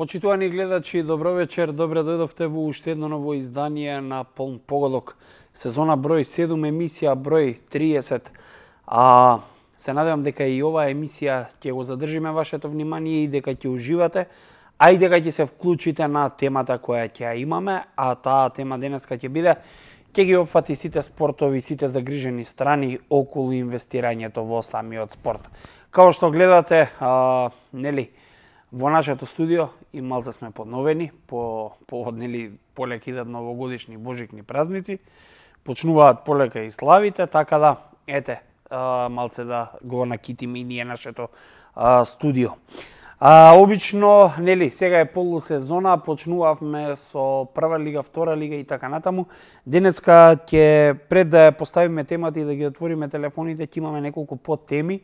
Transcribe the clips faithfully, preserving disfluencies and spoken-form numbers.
Почитувани гледачи, добро вечер, добре дојдовте во уште едно ново издание на Полн погодок. Сезона број седум, емисија број триесет. А се надевам дека и оваа емисија ќе го задржиме вашето внимание и дека ќе уживате, а и дека ќе се вклучите на темата која ќе ја имаме, а таа тема денеска ќе биде ќе ги опфати сите спортови, сите загрижени страни околу инвестирањето во самиот спорт. Као што гледате, а, нели, во нашето студио и малце сме подновени, по повод нели полека идат новогодишни божикни празници, почнуваат полека и славите, така да ете а, малце да го накитиме и ние нашето а, студио. А, обично, нели, сега е полусезона, почнувавме со прва лига, втора лига и така натаму. Денеска ќе пред да поставиме темата и да ги отвориме телефоните, ќе имаме неколку подтеми,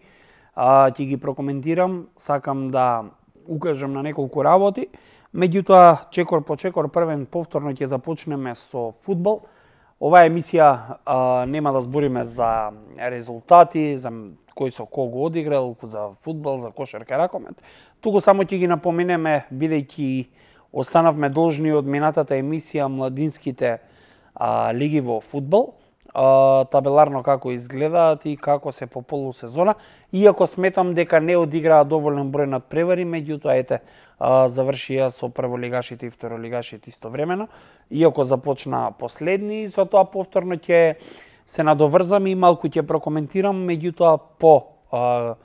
а, ќе ги прокоментирам, сакам да укажам на неколку работи. Меѓутоа, чекор по чекор, првен повторно ќе започнеме со фудбал. Оваа емисија а, нема да збориме за резултати, за кој со кого одиграл, за фудбал, за кошарка, ракомет. Туку само ќе ги напоменеме, бидејќи останавме должни од минатата емисија младинските а, лиги во фудбал, а, табеларно како изгледаат и како се по полусезона, иако сметам дека не одиграа доволен број надпревари, меѓутоа ете, а, завршија со прволигашите и второлигашите истовремено, иако започна последни, и со тоа повторно ќе се надоврзам и малку ќе прокоментирам, меѓутоа по а,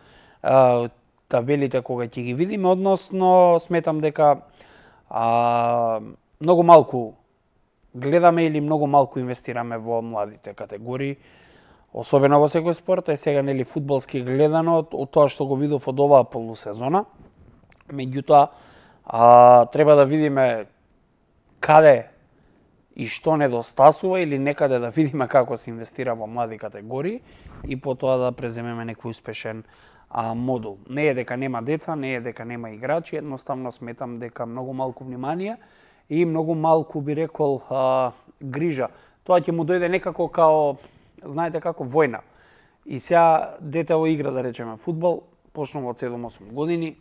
а, табелите кога ќе ги видиме, односно сметам дека а, многу малку гледаме или многу малку инвестираме во младите категории, особено во секој спорт, е сега нели фудбалски гледано од тоа што го видов од оваа полусезона. Меѓутоа, а, треба да видиме каде и што недостасува или некаде да видиме како се инвестира во млади категории и потоа да преземеме некој успешен а, модул. Не е дека нема деца, не е дека нема играчи, едноставно сметам дека многу малку внимание и многу малку, би рекол, а, грижа. Тоа ќе му дојде некако као, знаете како, војна. И сега детево игра, да речеме, фудбал, почнува од седум-осум години,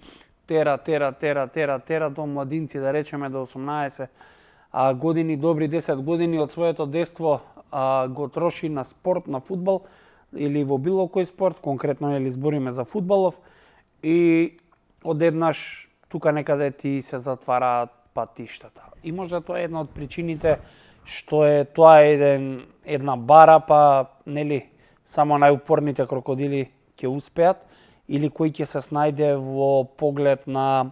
тера, тера, тера, тера, тера до младинци, да речеме, до осумнаесет а, години, добри десет години од своето детство а, го троши на спорт, на фудбал или во било кој спорт, конкретно нели збориме за фудбалов, и одеднаш тука некаде ти се затвараат патиштата. И може тоа е една од причините што е тоа еден, една бара, па нели само најупорните крокодили ќе успеат, или кој ќе се снајде во поглед на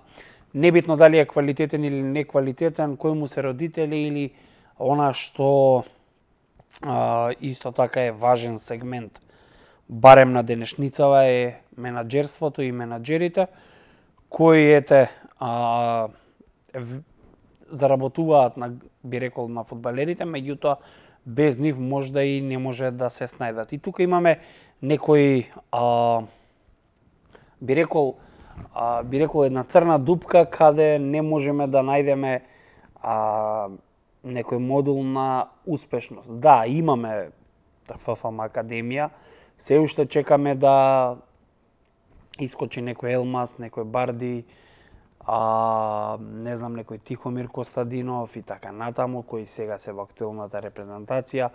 небитно дали е квалитетен или неквалитетен, кој му се родители или она што а, исто така е важен сегмент, барем на денешницава, е менаџерството и менаџерите, кои ете а, заработуваат на, би рекол, на фудбалерите, меѓутоа без нив можда и не може да се снајдат. И тука имаме некои а, би рекол а, би рекол една црна дупка каде не можеме да најдеме а, некој модул на успешност. Да, имаме ФФМ Академија, се уште чекаме да искочи некој Елмас, некој Барди, а, не знам, некој Тихомир Костадинов и така натаму, кои сега се во актуелната репрезентација,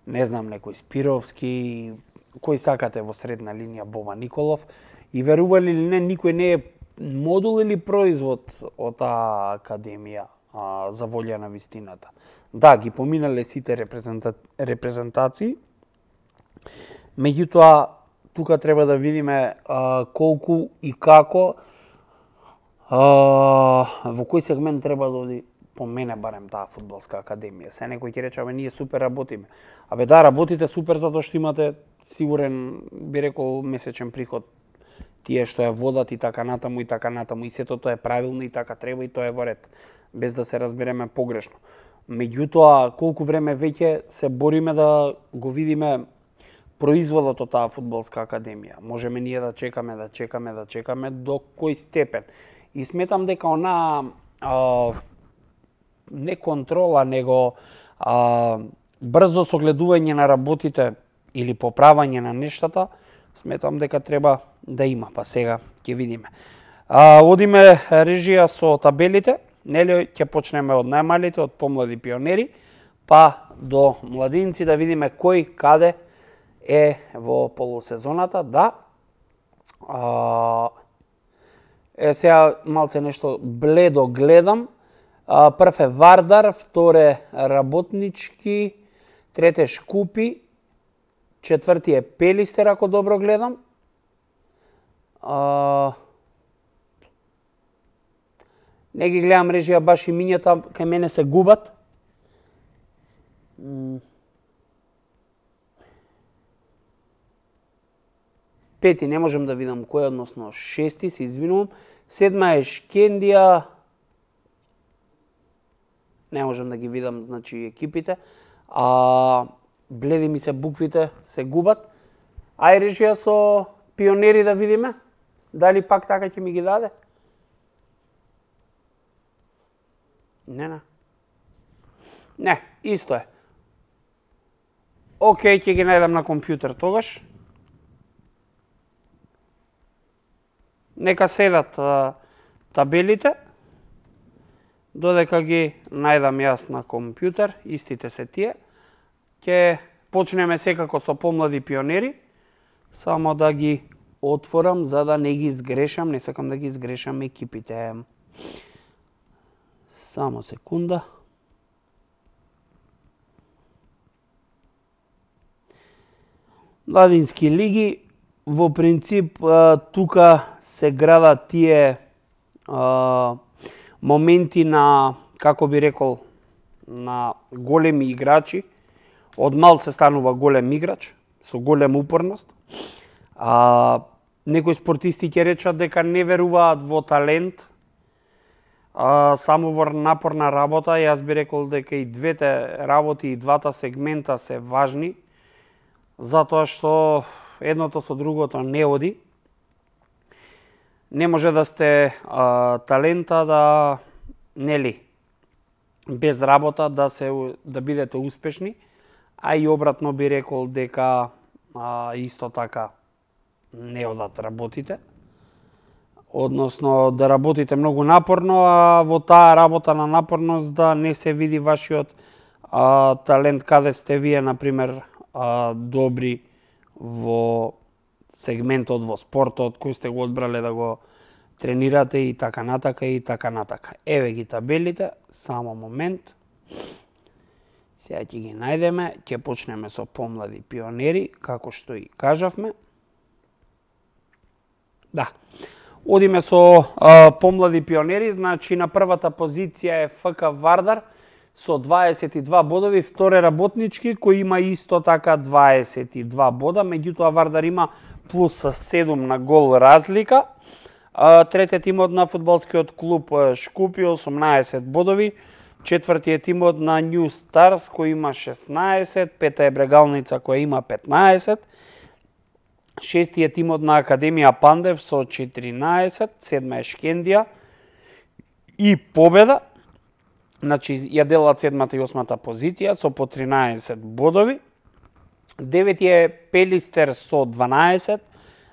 не знам, некој Спировски, кој сакате во средна линија, Боба Николов, и верували или не, никој не е модул или производ од таа академија а, за волја на вистината. Да, ги поминале сите репрезента... репрезентации, меѓутоа, тука треба да видиме а, колку и како, а, во кој сегмент треба да оди, по мене барем, таа фудбалска академија. Се некој ќе рече, абе, ние супер работиме. Абе, да, работите супер затоа што имате сигурен, би рекол, месечен приход, тие што ја водат и така натаму и така натаму, и сето тоа е правилно и така треба и тоа е во ред, без да се разбереме погрешно. Меѓутоа, колку време веќе се бориме да го видиме производот од таа фудбалска академија. Можеме ние да чекаме, да чекаме, да чекаме до кој степен. И сметам дека она а, не контрола, него а, брзо согледување на работите или поправање на нештата, сметам дека треба да има, па сега ќе видиме. А, одиме режија со табелите. нели ќе почнеме од најмалите, од помлади пионери, па до младинци да видиме кој каде е во полусезоната, да. А, е сега малце нешто бледо гледам. А, прв е Вардар, втор е Работнички, трет е Шкупи, четврти е Пелистер, ако добро гледам. А, не ги гледам режија баш имињата, кај мене се губат. Пети не можем да видам кој, односно шести, се извинувам. Седма е Шкендија. Не можем да ги видам, значи, екипите. А, бледи ми се буквите, се губат. Ај режија со пионери да видиме. Дали пак така ќе ми ги даде? Не, не. Не, исто е. Океј, ќе ги најдам на компјутер тогаш. Нека седат а, табелите, додека ги најдам јас на компјутер, истите се тие. Ќе почнеме секако со помлади пионери, само да ги отворам за да не ги сгрешам, не сакам да ги сгрешам екипите. Само секунда. Младински лиги, во принцип, тука се градат тие а, моменти на, како би рекол, на големи играчи. Од мал се станува голем играч, со голем упорност. А, некои спортисти ќе речат дека не веруваат во талент, а, само во напорна работа. Јас би рекол дека и двете работи, и двата сегмента се важни, затоа што едното со другото не оди. Не може да сте а, талента да, нели, без работа да се да бидете успешни, а и обратно би рекол дека а, исто така не одат работите. Односно да работите многу напорно, а во таа работа на напорност да не се види вашиот а, талент, каде сте вие, например, а, добри во сегментот, во спортот, кој сте го одбрале да го тренирате и така натака и така натака. Еве ги табелите, само момент. Сега ќе ги најдеме, ќе почнеме со помлади пионери, како што и кажавме. Да. Одиме со а, помлади пионери, значи на првата позиција е ФК Вардар со дваесет и два бодови, втор е Работнички кој има исто така дваесет и два бода, меѓутоа Вардар има плюс седум на гол разлика. А, третиот тимот на фудбалскиот клуб Шкупи осумнаесет бодови, четврти е тимот на Нью Старс кој има шеснаесет, пета е Брегалница која има петнаесет, шести е тимот на Академија Пандев со четиринаесет, седма е Шкендија и победа. Значи, ја делат седмата и осмата позиција со по тринаесет бодови. Девети е Пелистер со дванаесет,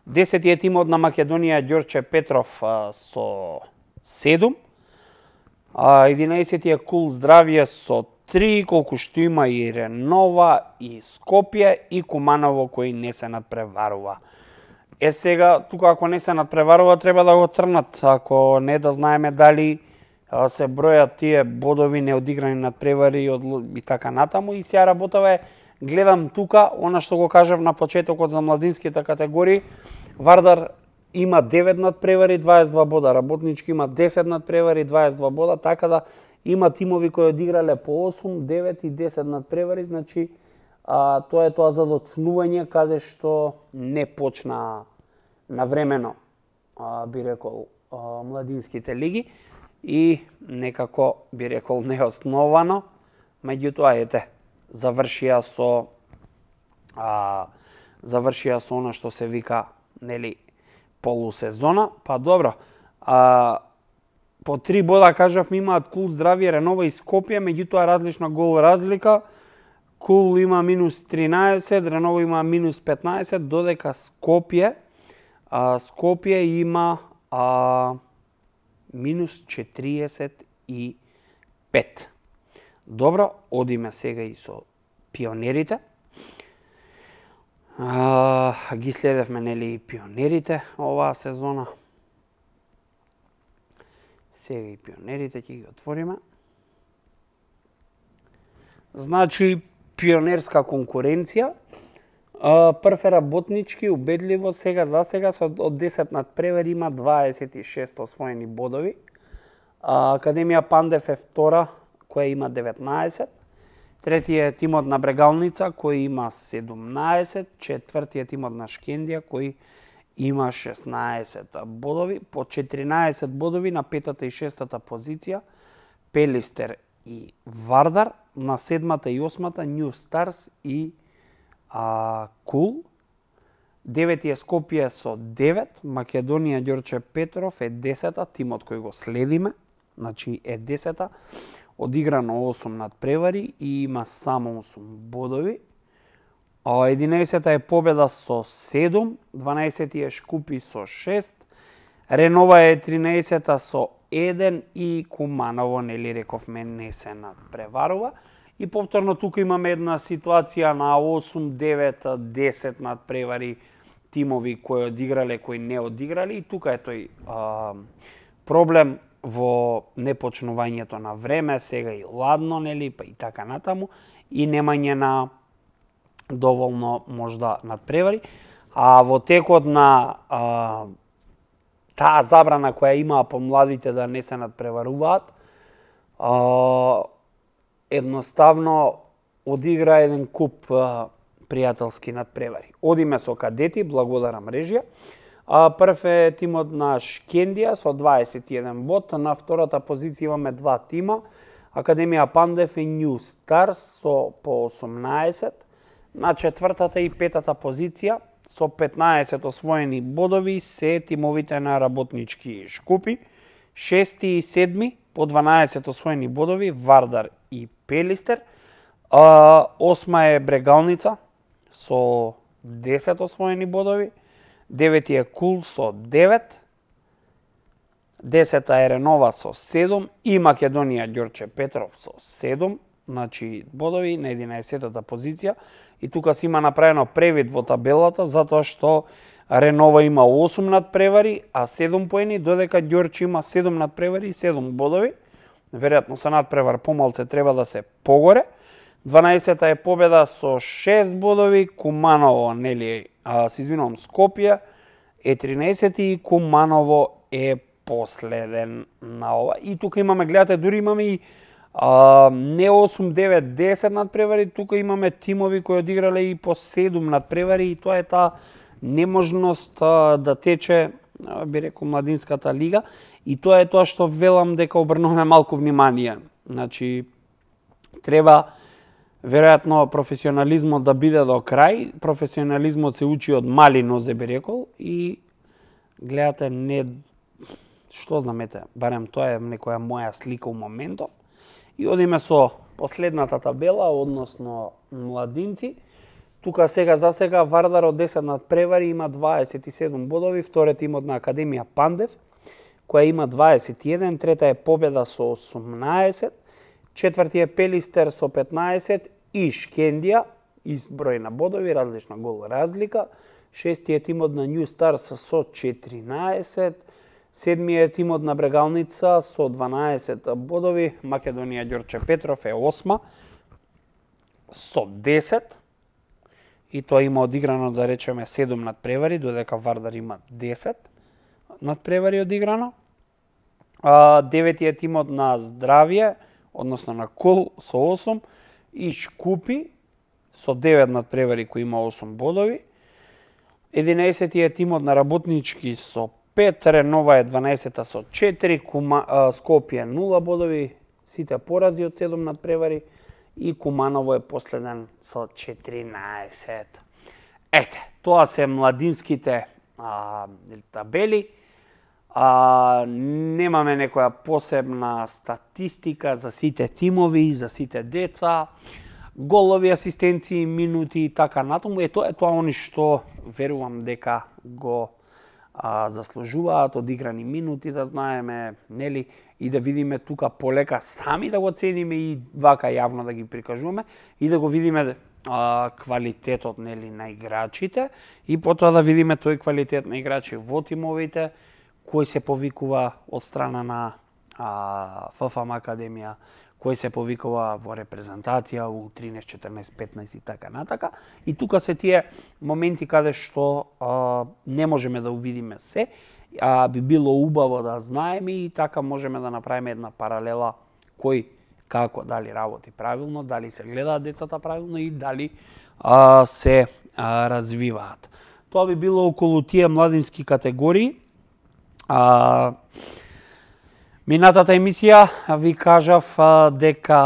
десети е тимот на Македонија Ѓорче Петров а, со седум, а, единаесети е Кул Здравје со три, колку што има и Ренова, и Скопје, и Куманово кој не се надпреварува. Е сега, тука ако не се надпреварува, треба да го трнат, ако не да знаеме дали а, се бројат тие бодови неодиграни надпревари и така натаму. И сега работава е, гледам тука, она што го кажав на почетокот за младинските категории, Вардар има девет надпревари, дваесет и два бода, Работнички има десет надпревари, дваесет и два бода, така да има тимови кои одиграле по осум, девет и десет надпревари, значи а, тоа е тоа за доцнување каде што не почна навремено, а, би рекол, а, младинските лиги и некако би рекол неосновано, меѓутоа ете, завршија со а, завршија со она што се вика, нели, полусезона. Па добро, а, по три бода кажавме имаат Кул Здравје, Ренова и Скопје, меѓутоа различна гол разлика. Кул има минус тринаесет, Ренова има минус петнаесет, додека Скопје а, Скопје има а, минус четириесет и пет. Добро, одиме сега и со пионерите. А, ги следевме нели и пионерите оваа сезона. Сега и пионерите ќе ги отвориме. Значи, пионерска конкуренција. Прв е работнички, убедливо, сега за сега со од десет надпревари има дваесет и шест освоени бодови. Академија Пандев е втора, која има деветнаесет. Третиот е тимот на Брегалница, кој има седумнаесет. Четвртиот тимот на Шкендија, кој има шеснаесет бодови. По четиринаесет бодови на петата и шестата позиција Пелистер и Вардар. На седмата и осмата New Stars и а, Кул. Девети е Скопје со девет. Македонија Ѓорче Петров е десета, тимот кој го следиме. Значи е десета. Одиграно осум надпревари и има само осум бодови. единаесета е Победа со седум, дванаесети е Шкупи со шест, Ренова е тринаесета со еден и Куманово, нели рековме, не се надпреварува. И повторно тука имаме една ситуација на осум, девет, десет надпревари тимови кои одиграле, кои не одиграли. И тука е тој а, проблем во непочнувањето на време, сега и ладно, нели, па и така натаму, и немање на доволно можда надпревари. А во текот на а, таа забрана која имаа помладите да не се надпреваруваат, а, едноставно одигра еден куп а, пријателски надпревари. Одиме со кадети, благодарам мрежија. А, прв е тимот на Шкендија со дваесет и еден бод. На втората позиција имаме два тима. Академија Пандев и New Stars со по осумнаесет. На четвртата и петата позиција со петнаесет освоени бодови се тимовите на Работнички Шкупи. Шести и седми по дванаесет освоени бодови Вардар и Пелистер. А, осма е Брегалница со десет освоени бодови. Девети е Кул со девет. Десета е Ренова со седум и Македонија Ѓорче Петров со седум. Значи бодови на единаесетата позиција. И тука се има направено превид во табелата, затоа што Ренова има осум надпревари, а седум поени, додека Ѓорче има седум надпревари и седум бодови. Веројатно со надпревар помалце треба да се погоре. дванаесета е Победа со шест бодови, Куманово, нели, а, се извинувам, Скопје е тринаесети и Куманово е последен на ова. И тука имаме, гледате, дури имаме и а, не осум, девет, десет надпревари, тука имаме тимови кои одиграле и по седум надпревари и тоа е таа неможност а, да тече, а, би рекол, младинската лига. И тоа е тоа што велам дека обрнуваме малку внимание. Значи, треба веројатно професионализмот да биде до крај. Професионализмот се учи од мали нозе, би рекол, и гледате, не, што знамете, барем тоа е некоја моја слика у моментов. И одиме со последната табела, односно младинци. Тука сега за сега Вардар од десет надпревари има дваесет и седум бодови, вториот тимот на Академија Пандев, која има дваесет и еден, трета е Победа со осумнаесет, четврти е Пелистер со петнаесет и Шкендија, ист број на бодови, различна гол разлика, шести е тимот на New Stars со четиринаесет, седми е тимот на Брегалница со дванаесет бодови, Македонија Ѓорче Петров е осма со десет, и тоа има одиграно, да речеме, седум надпревари, додека Вардар има десет надпревари одиграно. А, девети е тимот на Здравје, односно на Кул со осум, и Шкупи со девет надпревари кој има осум бодови. единаесети е тимот на Работнички со пет, Ренова е дванаесета со четири, Кума, а, Скопје нула бодови, сите порази од седум надпревари, и Куманово е последен со четиринаесет. Ете, тоа се младинските а, табели. А, немаме некоја посебна статистика за сите тимови, за сите деца, голови, асистенции, минути и така натаму. Е тоа е тоа они што верувам дека го а, заслужуваат одиграни минути, да знаеме, нели, и да видиме тука полека сами да го цениме и вака јавно да ги прикажуваме и да го видиме а, квалитетот, нели, на играчите и потоа да видиме тој квалитет на играчи во тимовите, кој се повикува од страна на а, ФФМ Академија, кој се повикува во репрезентација у тринаесет, четрнаесет, петнаесет и така натака. И тука се тие моменти каде што а, не можеме да увидиме се, а би било убаво да знаеме и така можеме да направиме една паралела кој како, дали работи правилно, дали се гледаат децата правилно и дали а, се а, развиваат. Тоа би било околу тие младински категории. А, Минатата емисија ви кажав а, дека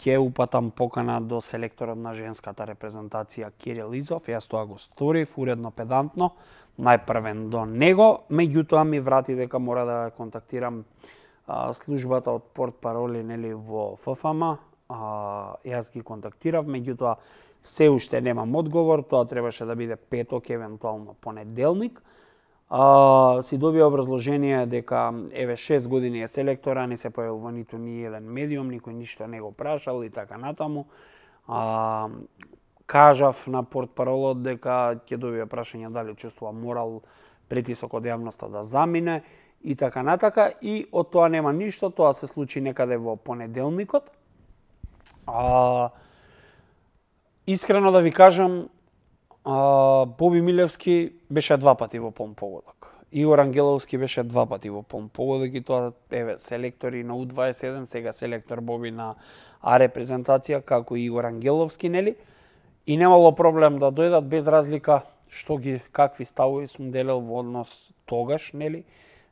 ќе упатам покана до селекторот на женската репрезентација Кирил Изов. Јас тоа го сторив уредно, педантно, најпрвен до него. Меѓутоа ми врати дека мора да контактирам а, службата од портпароли, нели, во ФФМ. А, јас ги контактирав, меѓутоа се уште немам одговор. Тоа требаше да биде петок, евентуално понеделник. А, си добија образложение дека еве шест години е селектора, не се појавил во ниту ни еден медиум, никој ништо не го прашал и така натаму. А, кажав на портпаролот дека ќе добија прашање дали чувствува морал, притисок од јавноста да замине и така натака, и од тоа нема ништо. Тоа се случи некаде во понеделникот. А, искрено да ви кажам, Uh, Боби Милевски беше два пати во полн погодок. Игор Ангеловски беше два пати во полн погодок и тоа, еве, селектори на У дваесет и седум, сега селектор Боби на А репрезентација, како и Игор Ангеловски, нели? И немало проблем да дојдат без разлика што ги, какви ставови сум делел во однос тогаш, нели,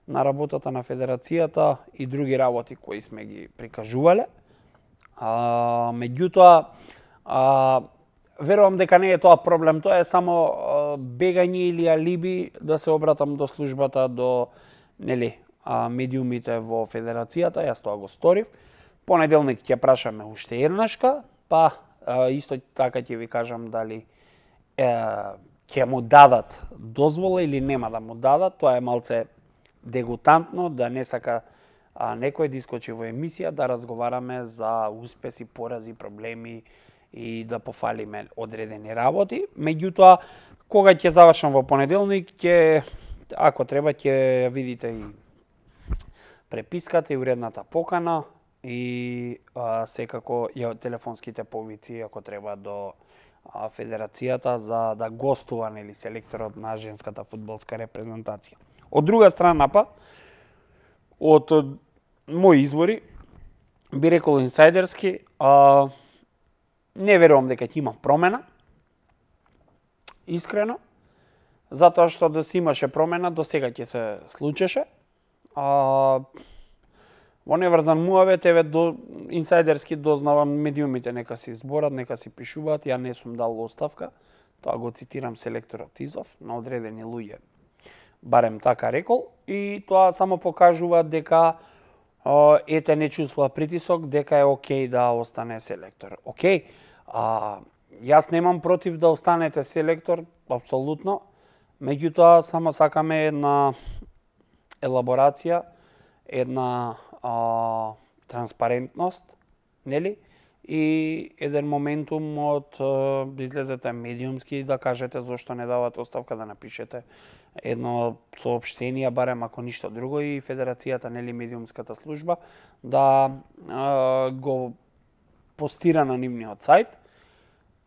на работата на федерацијата и други работи кои сме ги прикажувале. А, меѓутоа, а, верувам дека не е тоа проблем, тоа е само бегање или алиби да се обратам до службата, до, нели, медиумите во федерацијата. Јас тоа го сторив. Понеделник ќе прашаме уште еднашка, па исто така ќе ви кажам дали е, ќе му дадат дозвола или нема да му дадат. Тоа е малце дегутантно, да не сака а, некој да искочи во емисија да разговараме за успеси, порази, проблеми и да пофалиме одредени работи. Меѓутоа, кога ќе завршам во понеделник, ќе, ако треба, ќе видите и преписката и уредната покана и а, секако ја телефонските повици, ако треба, до а, федерацијата за да гостува, нели, селекторот на женската фудбалска репрезентација. Од друга страна, па, од мои извори, би рекол инсайдерски, а, не верувам дека ќе има промена, искрено, затоа што да се имаше промена, до сега ќе се случеше. А, во неврзан муавет, еве, до инсайдерски дознавам медиумите нека си зборат, нека си пишуваат, ја не сум дал оставка, тоа го цитирам селекторот Изов, на одредени луѓе, барем така рекол, и тоа само покажува дека а, ете не чувствува притисок, дека е окей да остане селектор. Окей, а, јас немам против да останете селектор, апсолутно, меѓутоа само сакаме една елаборација, една а, транспарентност, нели? И еден моментум од да излезете медиумски и да кажете зошто не давате оставка, да напишете едно соопштение, барем ако ништо друго, и федерацијата, нели, медиумската служба, да а, го постира на нивниот сајт,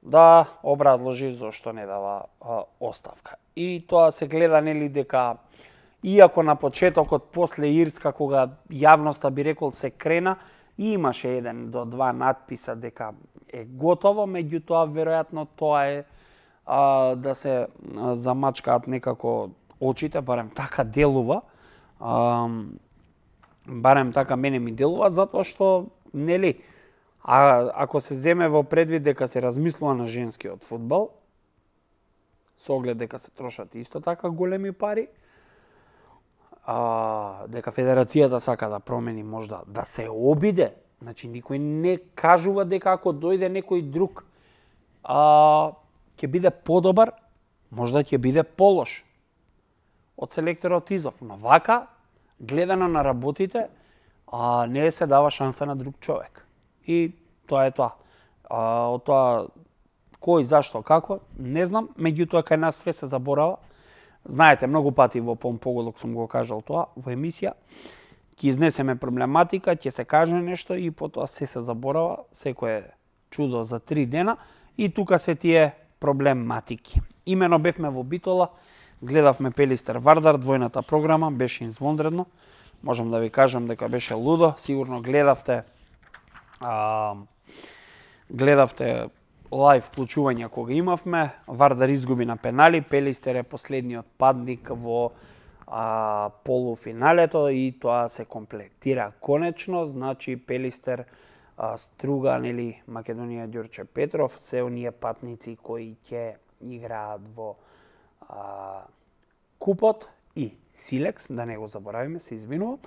да образложи зошто не дава а, оставка. И тоа се гледа, нели, дека иако на почетокот, после Ирска, кога јавноста, би рекол, се крена, и имаше еден до два надписа дека е готово, меѓутоа веројатно тоа е а, да се замачкаат некако очите, барем така делува, а, барем така мене ми делува, затоа што, нели, а, ако се земе во предвид дека се размислува на женскиот фудбал, со оглед дека се трошат исто така големи пари, а, дека федерацијата сака да промени, можда да се обиде, значи никој не кажува дека ако дојде некој друг а, ќе биде подобар, можда ќе биде полош. од селекторот Изов. Но вака, гледано на работите, а, не се дава шанса на друг човек. И тоа е тоа. А, од тоа, кој, зашто, како, не знам, меѓутоа кај нас све се заборава. Знаете, многу пати во Помпоголок сум го кажал тоа, во емисија, ќе изнесеме проблематика, ќе се каже нешто и потоа се се заборава, секој е чудо за три дена и тука се тие проблематики. Имено бевме во Битола, гледавме Пелистер Вардар, двојната програма, беше извонредно. Можам да ви кажам дека беше лудо, сигурно гледавте а, гледавте лайв вклучување кога имавме. Вардар изгуби на пенали, Пелистер е последниот падник во а, полуфиналето и тоа се комплетира конечно, значи Пелистер, а, Струган или Македонија Ѓорче Петров, се оние патници кои ќе играат во а, купот и Силекс, да не го заборавиме, се извинувам.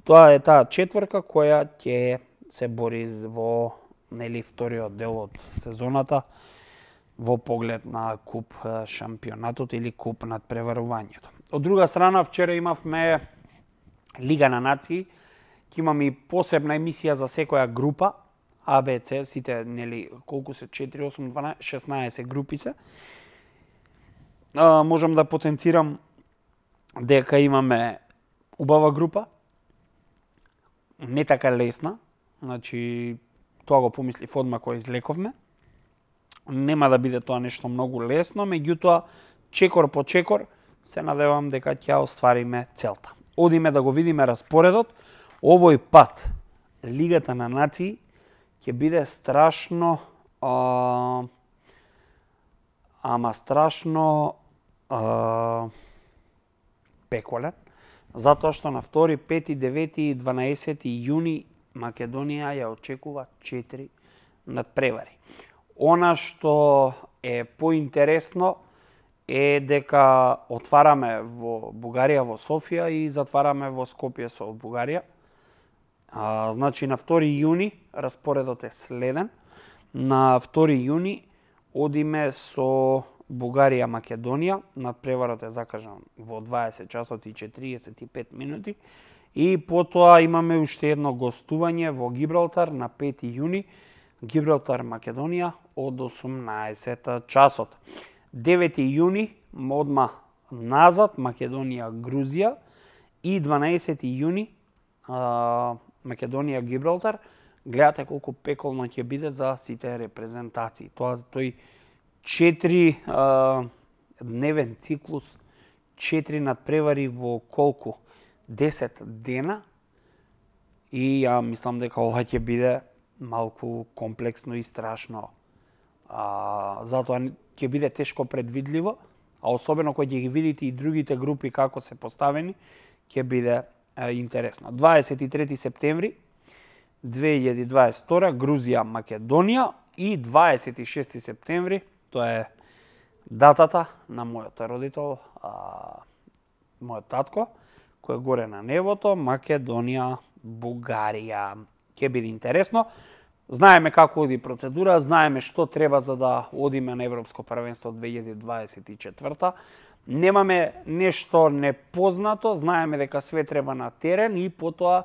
Тоа е таа четврка која ќе се бори во нели вториот дел од сезоната во поглед на куп шампионатот или куп над преварувањето. Од друга страна, вчера имавме Лига на нации, ќе имаме и посебна емисија за секоја група, А, Б, С, сите, нели, колку се, четири, осум, дванаесет, шеснаесет групи се. А, можам да потенцирам дека имаме убава група, не така лесна, значи, тоа го помислив одма кога излековме. Нема да биде тоа нешто многу лесно, меѓутоа, чекор по чекор, се надевам дека ќе оствариме целта. Одиме да го видиме распоредот. Овој пат, Лигата на нации, ќе биде страшно, а, ама страшно а, пеколен, затоа што на втори, пети, девети и дванаесети јуни Македонија ја очекува четири надпревари. Она што е поинтересно е дека отвараме во Бугарија, во Софија и затвараме во Скопје со Бугарија. А, значи на втори јуни распоредот е следен. На втори јуни одиме со Бугарија, Македонија. Надпреварот е закажан во дваесет часот и четириесет и пет минути. И потоа имаме уште едно гостување во Гибралтар на пети јуни. Гибралтар, Македонија од осумнаесет часот. девети јуни одма назад Македонија, Грузија и дванаесети јуни а, Македонија, Гибралтар. Гледате колку пеколно ќе биде за сите репрезентации. Тоа тој четири а, дневен циклус, четири надпревари во колку? десет дена. И ја мислам дека ова ќе биде малку комплексно и страшно. А, затоа ќе биде тешко предвидливо, а особено кога ќе ги видите и другите групи како се поставени, ќе биде а, интересно. дваесет и трети септември две илјади дваесет и втора Грузија, Македонија и дваесет и шести септември, тоа е датата на мојот родител, а, мојот татко, кој е горе на небото, Македонија, Бугарија. Ќе биде интересно. Знаеме како оди процедура, знаеме што треба за да одиме на Европско првенство две илјади дваесет и четврта. Немаме нешто непознато, знаеме дека све треба на терен и потоа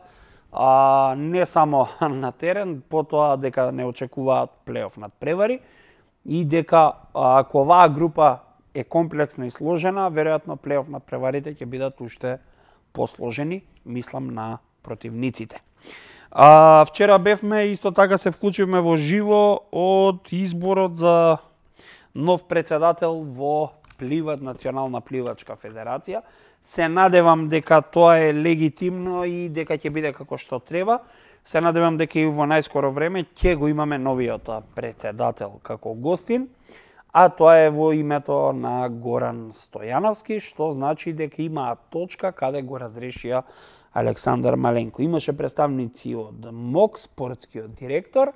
а, не само на терен, потоа дека не очекуваат плейоф надпревари и дека ако оваа група е комплексна и сложена, веројатно плейоф надпреварите ќе бидат уште посложени, мислам на противниците. А, вчера бевме, исто така се вклучивме во живо од изборот за нов председател во Пливат, Национална пливачка федерација. Се надевам дека тоа е легитимно и дека ќе биде како што треба. Се надевам дека и во најскоро време ќе го имаме новиот председател како гостин, а тоа е во името на Горан Стојановски, што значи дека има точка каде го разрешија Александар Маленко. Имаше представници од МОК, спортскиот директор,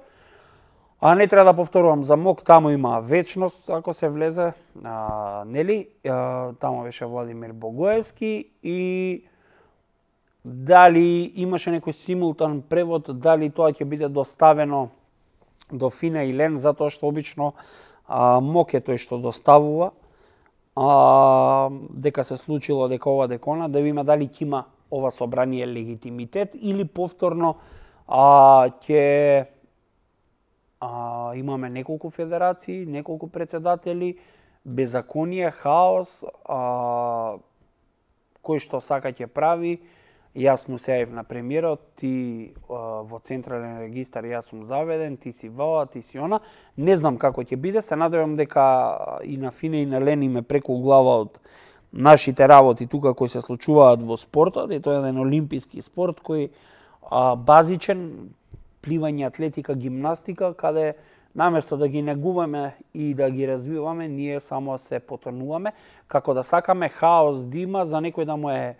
а не треба да повторувам за МОК, таму има вечност ако се влезе, а, нели, а, таму беше Владимир Богоевски и дали имаше некој симултан превод, дали тоа ќе биде доставено до Фина и Лен, затоа што обично а, МОК е тој што доставува, а, дека се случило дека ова декона, да видиме дали ќе има ова собрание легитимитет или повторно а, ќе а, имаме неколку федерации, неколку председатели, беззаконие, хаос, а, кој што сака ќе прави. Јас му се јавив на премиерот, ти а, во централен регистар јас сум заведен, ти си ва, ти си она. Не знам како ќе биде, се надевам дека и на Фине и на Лени ме преку глава од нашите работи тука кои се случуваат во спортот, и тоа е еден олимписки спорт кој а, базичен, пливање, атлетика, гимнастика, каде наместо да ги негуваме и да ги развиваме, ние само се потонуваме, како да сакаме хаос да има, за некој да му е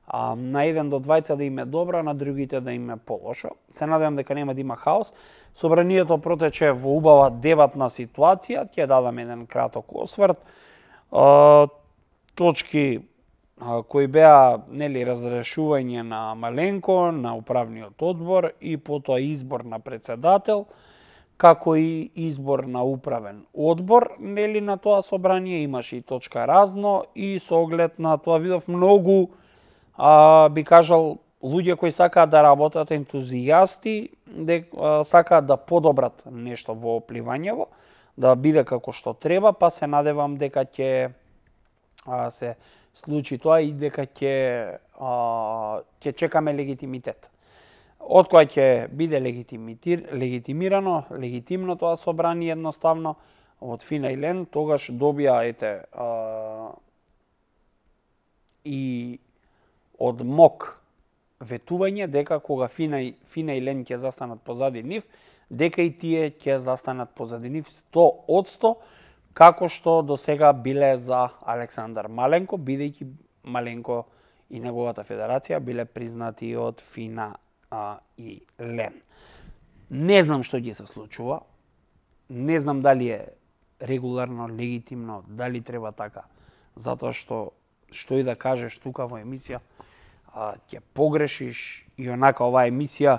а, на еден до двајца да им е добро, на другите да им е полошо. Се надевам дека нема да има хаос. Собранието протече во убава дебатна ситуација, ќе дадам еден краток осврт. А, точки а, кои беа, нели, разрешување на Маленко, на управниот одбор и потоа избор на председател, како и избор на управен одбор, нели, на тоа собрание имаше и точка разно, и со оглед на тоа видов многу, а, би кажал, луѓе кои сакаат да работат, ентузијасти, де, а, сакаат да подобрат нешто во пливањево, да биде како што треба, па се надевам дека ќе а, се случи тоа и дека ќе ќе чекаме легитимитет. Од која ќе биде легитимирано, легитимно тоа собрание едноставно од Фина и Лен, тогаш добија ете а, и од МОК ветување дека кога Фина и, Фина и Лен ќе застанат позади нив, дека и тие ќе застанат позади нив сто одсто, како што до сега биле за Александар Маленко, бидејќи Маленко и неговата федерација биле признати од Фина а, и Лен. Не знам што ќе се случува, не знам дали е регуларно, легитимно, дали треба така, затоа што што и да кажеш тука во емисија, а, ќе погрешиш, и онака оваа емисија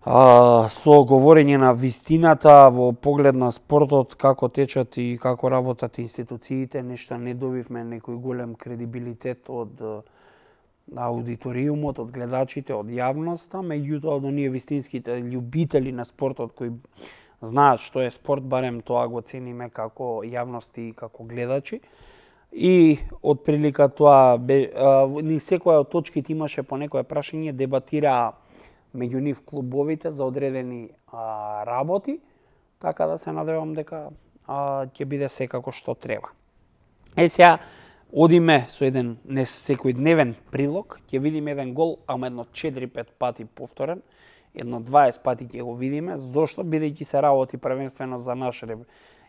а, со говорење на вистината во поглед на спортот, како течат и како работат институциите, нешто не добивме некој голем кредибилитет од аудиториумот, од гледачите, од јавноста, меѓутоа од оние вистинските љубители на спортот кои знаат што е спорт, барем тоа го цениме како јавности и како гледачи. И од прилика тоа, бе, а, ни секоја од точките имаше по некое прашање, дебатираа меѓу нив клубовите за одредени а, работи, така да се надевам дека а, ќе биде секако што треба. Е сега, одиме со еден не секојдневен прилог, ќе видиме еден гол, ама едно четири-пет пати повторен, едно дваесет пати ќе го видиме. Зошто? Бидејќи се работи првенствено за наш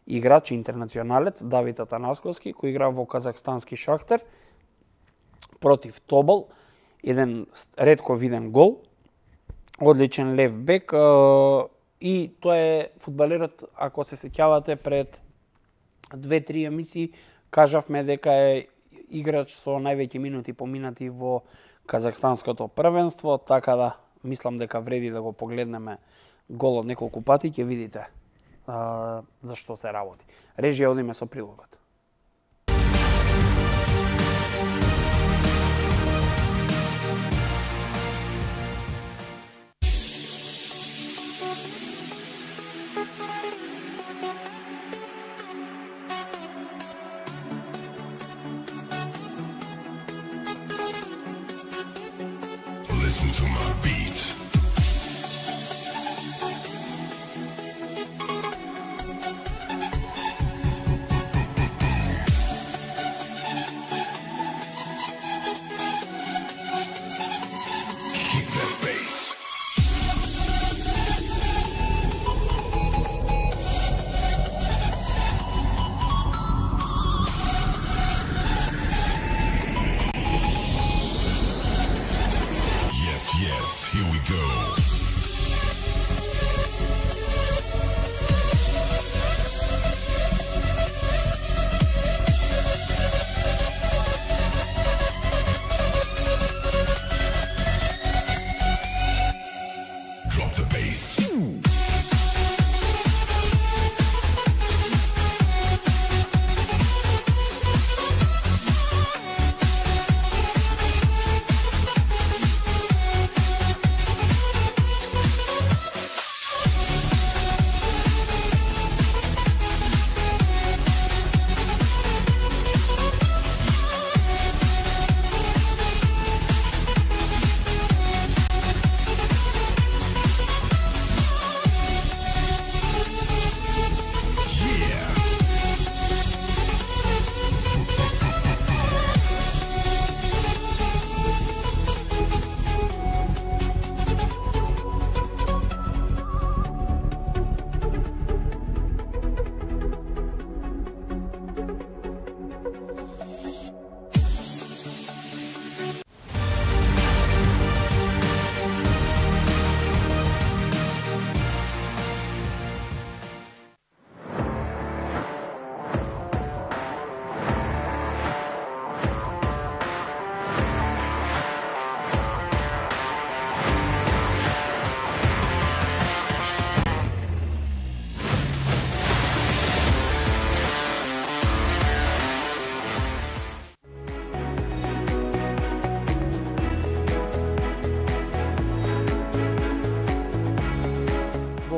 играч, интернационалец, Давид Атанасковски, кој игра во казахстански Шахтер против Тобол. Еден ретко виден гол, одличен лев бек, и тоа е фудбалерот, ако се сеќавате, пред две-три емисии кажавме дека е играч со највеќе минути поминати во казахстанското првенство, така да мислам дека вреди да го погледнеме голот неколку пати, ќе видите а, за што се работи. Режија, одиме со прилогот. Listen to my beat. Kick that bass. Yes,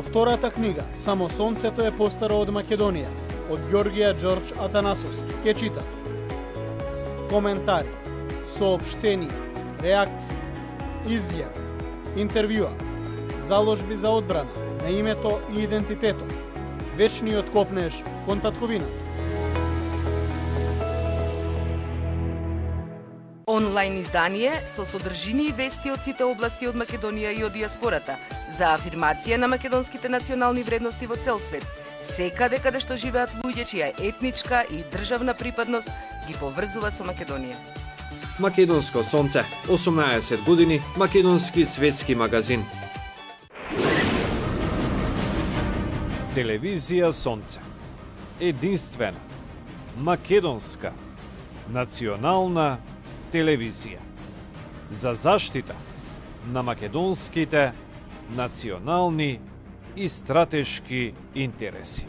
Во втората книга, Само сонцето е постаро од Македонија, од Ѓорѓија Ѓорџ Атанасовски, ке читате. Коментари, соопштенија, реакции, изјави, интервјуа, заложби за одбрана на името и идентитетот, вечниот копнеж кон татковината. Онлайн издание со содржини и вести од сите области од Македонија и од диаспората за афирмација на македонските национални вредности во цел свет, секаде каде што живеат луѓе чија етничка и државна припадност ги поврзува со Македонија. Македонско сонце, осумнаесет години, македонски светски магазин. Телевизија Сонце. Единствена, македонска, национална телевизија. За заштита на македонските национални и стратешки интереси.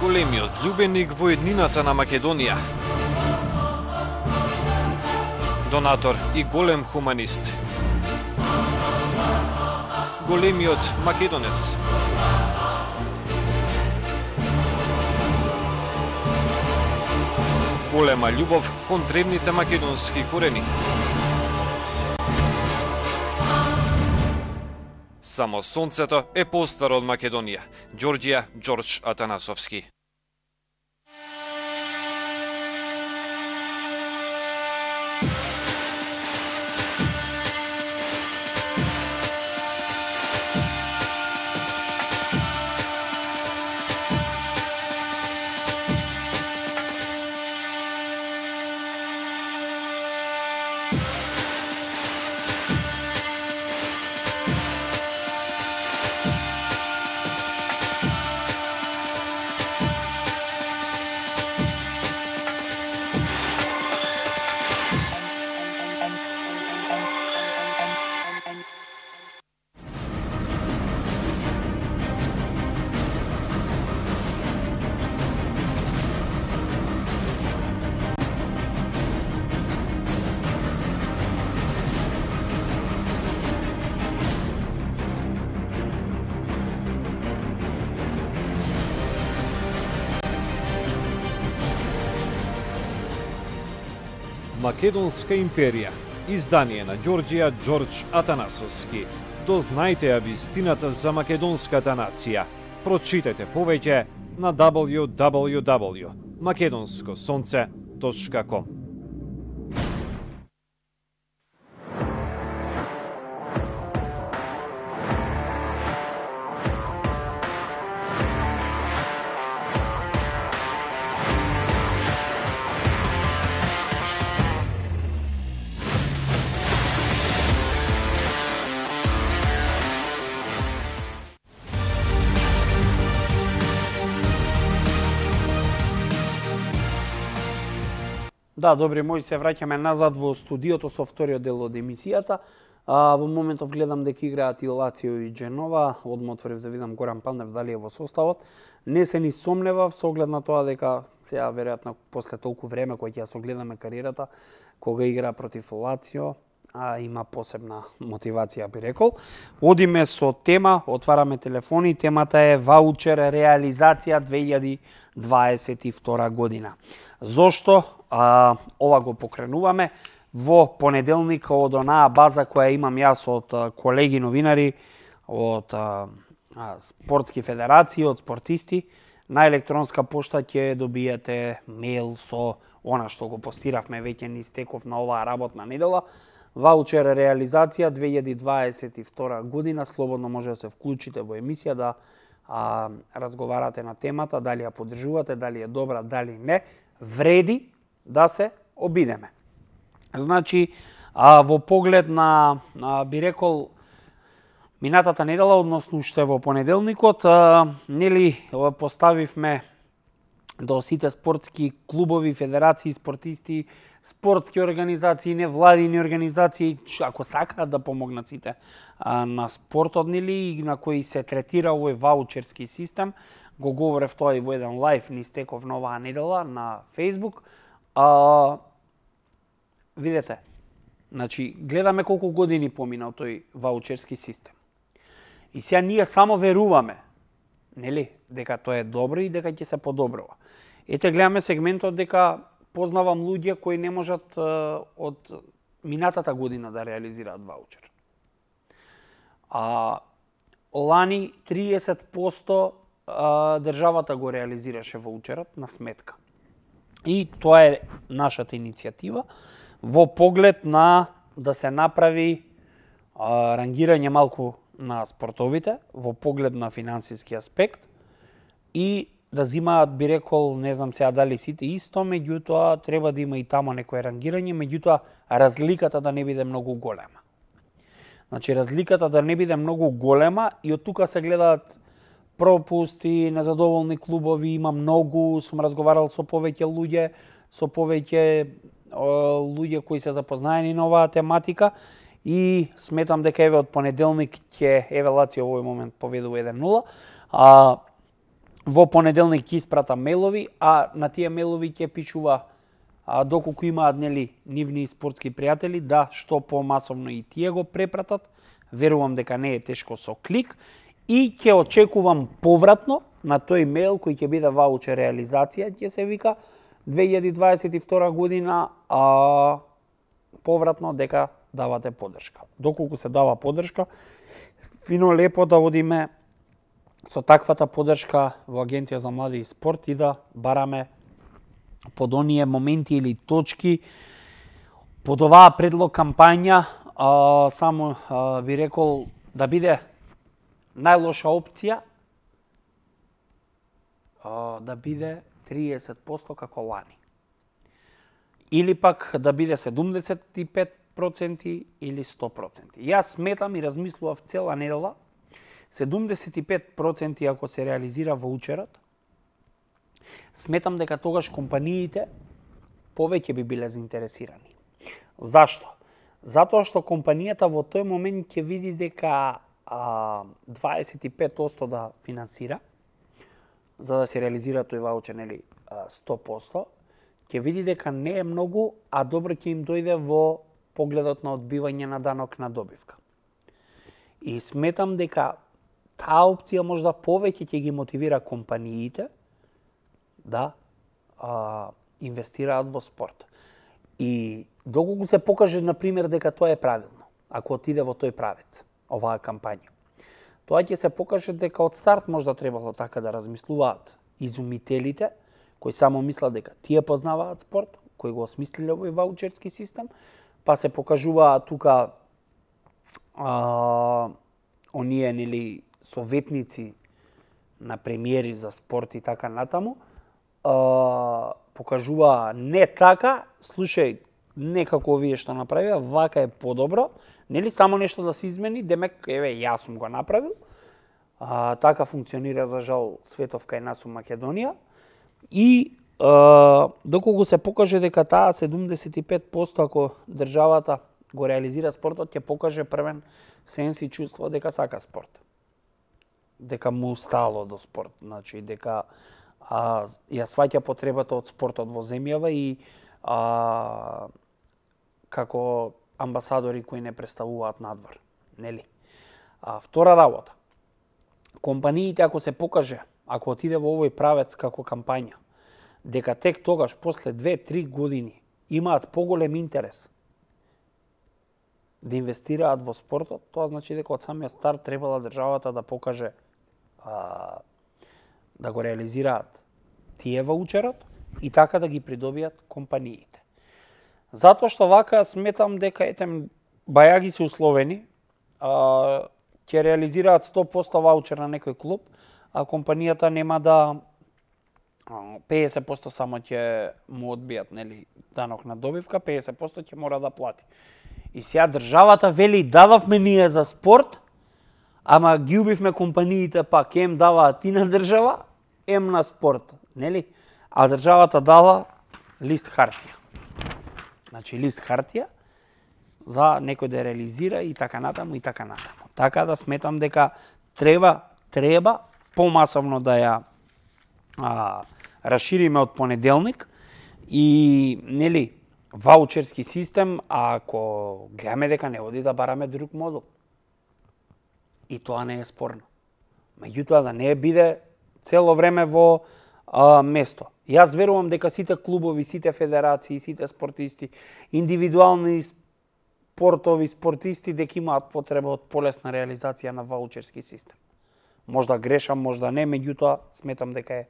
Големиот љубеник во еднината на Македонија. Донатор и голем хуманист. Големиот македонец. Голема љубов кон древните македонски корени. Само сонцето е постаро од Македонија. Ѓорѓија Ѓорџ Атанасовски. Македонска империја, издание на Ѓорѓија Ѓорџ Атанасовски. Дознајте ја вистината за македонската нација. Прочитете повеќе на дабл ю дабл ю дабл ю точка македонско сонце точка ком. Да, добри мои, се враќаме назад во студиото со вториот дел од емисијата. А, во моментов гледам дека играат и Лацио и Дженова. Одма отворив да видам Горан Пандев дали е во составот. Не се ни сомневав со оглед на тоа дека сега веројатно после толку време кој ќе ја согледаме кариерата, кога игра против Лацио, а има посебна мотивација, би рекол. Одиме со тема, отвараме телефони, темата е ваучер реализација две илјади дваесет и втора година. Зошто а, ова го покренуваме? Во понеделник од онаа база која имам јас од а, колеги новинари, од а, а, спортски федерации, од спортисти, на електронска пошта ќе добиете мејл со она што го постиравме веќе низ теков на оваа работна недела. Ваучер реализација две илјади дваесет и втора година, слободно може да се вклучите во емисија да а, разговарате на темата, дали ја поддржувате, дали е добра, дали не, вреди да се обидеме. Значи, а, во поглед на, а, би рекол, минатата недела, односно уште во понеделникот, а, нели поставивме до сите спортски клубови, федерации, спортисти, спортски организации, невладини организации, ако сакаат да помогнат сите а, на спортот, нели, и на кои се третира овој ваучерски систем. Го говорев тоа и во еден лайф низ теков на оваа недела на Facebook. А, видете, значи, гледаме колку години поминал тој ваучерски систем. И сега ние само веруваме, нели, дека тоа е добро и дека ќе се подобрува. Ете, гледаме сегментот дека познавам луѓе кои не можат од минатата година да реализираат ваучер. А лани триесет проценти државата го реализираше ваучерот на сметка. И тоа е нашата иницијатива во поглед на да се направи а, рангирање малку на спортовите, во поглед на финансиски аспект и да зимаат, би рекол, не знам сега дали сите исто, меѓутоа треба да има и тамо некое рангирање, меѓутоа разликата да не биде многу голема. Значи разликата да не биде многу голема и од тука се гледаат пропусти, незадоволни клубови, има многу, сум разговарал со повеќе луѓе, со повеќе луѓе кои се запознаени на оваа тематика и сметам дека еве од понеделник ќе еве Лацио во овој момент поведува еден нула, а во понеделник ќе испрата мейлови, а на тие мейлови ќе пишува а, доколку имаат нели нивни спортски пријатели да што помасовно и тие го препратат. Верувам дека не е тешко со клик и ќе очекувам повратно на тој мейл кој ќе биде ваучер реализација, ќе се вика две илјади дваесет и втора година, а повратно дека давате поддршка. Доколку се дава поддршка, фино лепо да одиме со таквата поддршка во Агенција за млади и спорт и да бараме под оние моменти или точки под оваа предлог кампања, а, само а, би рекол да биде најлоша опција а, да биде триесет проценти како лани. Или пак да биде седумдесет и пет проценти или сто проценти. Јас сметам и размислував цела недела, седумдесет и пет проценти ако се реализира ваучерот, сметам дека тогаш компаниите повеќе би биле заинтересирани. Зашто? Затоа што компанијата во тој момент ќе види дека а, дваесет и пет проценти да финансира, за да се реализира тој ваучер, нели, сто проценти, ќе види дека не е многу, а добро ќе им дојде во погледот на одбивање на данок на добивка. И сметам дека таа опција можда повеќе ќе ги мотивира компаниите да а, инвестираат во спорт. И доколку се покаже, например, дека тоа е правилно, ако отиде во тој правец, оваа кампања, тоа ќе се покаже дека од старт можда требало така да размислуваат изумителите, кои само мислат дека тие познаваат спорт, кои го осмислиле овој ваучерски систем, па се покажуваат тука а, оние, нели, советници на премиери за спорт и така натаму, а, покажува не така, слушај, некако овие што направија, вака е подобро, нели само нешто да се измени, демек, еве, јас сум го направил, а, така функционира за жал светов кај нас у Македонија, и а, доколку се покаже дека таа седумдесет и пет проценти ако државата го реализира спортот, ќе покаже првен сенс и чувство дека сака спорт. Дека му стало до спорт, значи дека а, ја сваќа потребата од спортот во земјава и а, како амбасадори кои не представуваат надвор, нели? А втора работа. Компаниите ако се покаже, ако отиде во овој правец како кампања, дека тек тогаш после две-три години имаат поголем интерес да инвестираат во спортот, тоа значи дека од самиот старт требала државата да покаже а, да го реализираат тие ваучерот и така да ги придобијат компаниите. Затоа што вака сметам дека ете бајаги се условени, а, ќе реализираат сто проценти ваучер на некој клуб, а компанијата нема да педесет проценти само ќе му одбијат, нели, данок на добивка, педесет проценти ќе мора да плати. И сега државата вели дадовме ние за спорт, ама ги убивме компаниите пак, ем даваат и на држава, ем на спорт, нели? А државата дала лист хартија. Значи лист хартија за некој да реализира и така натаму и така натаму. Така да сметам дека треба треба помасовно да ја а, расшириме од понеделник и нели ваучерски систем, а ако гледаме дека не оди да бараме друг модул. И тоа не е спорно. Меѓутоа да не биде цело време во а, место. Јас верувам дека сите клубови, сите федерации, сите спортисти, индивидуални спортови спортисти дека имаат потреба од полесна реализација на ваучерски систем. Можда грешам, можда не, меѓутоа сметам дека е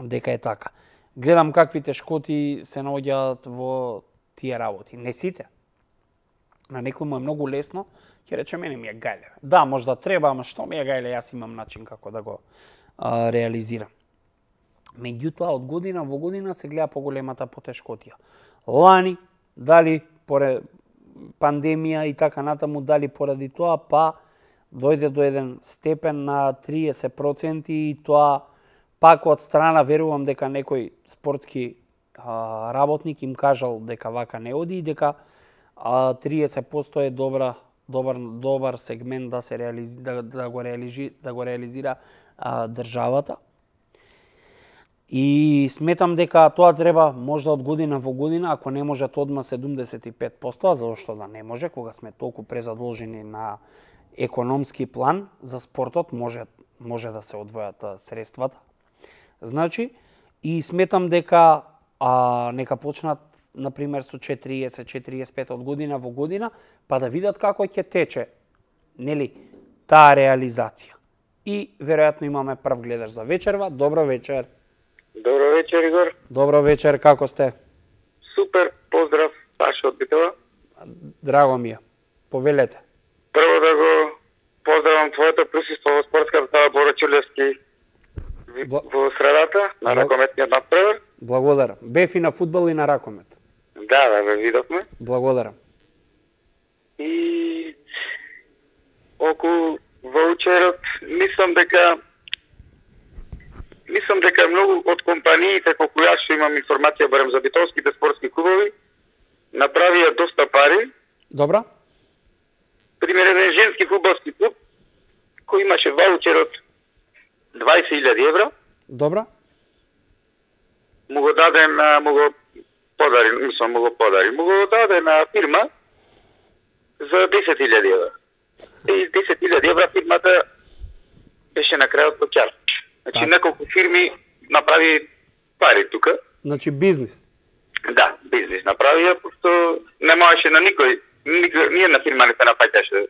дека е така. Гледам какви тешкоти се наоѓаат во тие работи. Не сите. На некој му е многу лесно, ќе рече мене ми е гајле. Да, можда треба, ама што ми е гајле, јас имам начин како да го а, реализирам. Меѓутоа, од година во година се гледа поголемата потешкотија. Лани, дали поред пандемија и така натаму, дали поради тоа, па дојде до еден степен на триесет проценти и тоа пак од страна верувам дека некој спортски а, работник им кажал дека вака не оди и дека а, триесет проценти е добра добар добар сегмент да се реализи, да, да го реализи, да го реализира а, државата. И сметам дека тоа треба можда од година во година, ако не може одма седумдесет и пет проценти, зашто да не може, кога сме толку презадолжени на економски план за спортот, може може да се одвојат средствата. Значи, и сметам дека а, нека почнат на пример со четириесет четириесет и пет од година во година, па да видат како ќе тече, нели, таа реализација. И веројатно имаме прв гледач за вечерва. Добро вечер. Добро вечер, Игор. Добро вечер, како сте? Супер, поздрав, Сашо од Битола. Драго ми е. Повелете. Прво да го поздравам твоето присуство во спортската сала Боро Чулевски Бла... во средата на Бла... ракометниот надпревар. Благодарам. Бев и на фудбал и на ракомет. Да, да, ве видовме. Благодарам. И околу ваучерот, мислам дека мислам дека многу од компаниите колку јас што имам информација барем за битолските спортски клубови направија доста пари. Добра. Пример, еден женски фудбалски клуб кој имаше ваучер од дваесет илјади евра. Добра. Му го даде на му го подари, мислам му го подари, му го даде на фирма за десет илјади евра. И десет илјади евра фирмата беше на крајот плаќар. Значи так. Неколку фирми направи пари тука. Значи бизнис. Да, бизнис направија, пошто не можеше на никој, никој ни една фирма не се нафаќаше